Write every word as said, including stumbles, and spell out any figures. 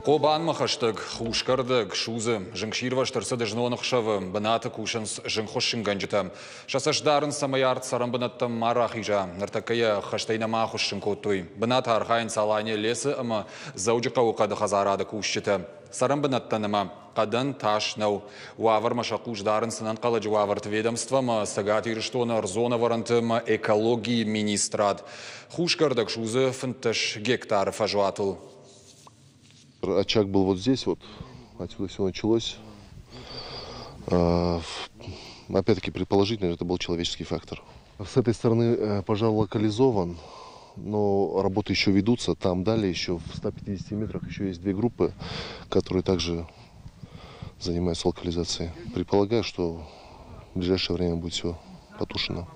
Хъобанмӕ хӕстӕг хусгӕрдӕг судзы. Зынгсирвӕзт ӕрцыд знон ӕхсӕвы. Бынаты кусынц зынгхуыссынгӕнджытӕ. Сӕ цӕст дарынц, цӕмӕй арт цӕрӕнбынӕттӕм ма рахиза. Ныртӕккӕ йӕ хӕстӕй нӕма ахуыссын кодтой. Бынаты архайынц Алания лесы ӕмӕ Дзӕуджыхъӕуы хъӕды хӕдзарады кусджытӕ. Цӕрӕнбынӕттӕн ӕмӕ хъӕдӕн тас нӕу. Уавӕрмӕ сӕ хъус дарынц ӕнӕнхъӕлӕджы уавӕрты ведомство ӕмӕ Цӕгат Ирыстоны ӕрдзон ӕвӕрӕнты ӕмӕ экологийы министрад. Хусгӕрдӕг судзы фынддӕс гектары фӕзуатыл. Очаг был вот здесь вот, отсюда все началось. Опять-таки, предположительно, это был человеческий фактор. С этой стороны пожар локализован, но работы еще ведутся. Там далее еще в ста пятидесяти метрах еще есть две группы, которые также занимаются локализацией. Предполагаю, что в ближайшее время будет все потушено.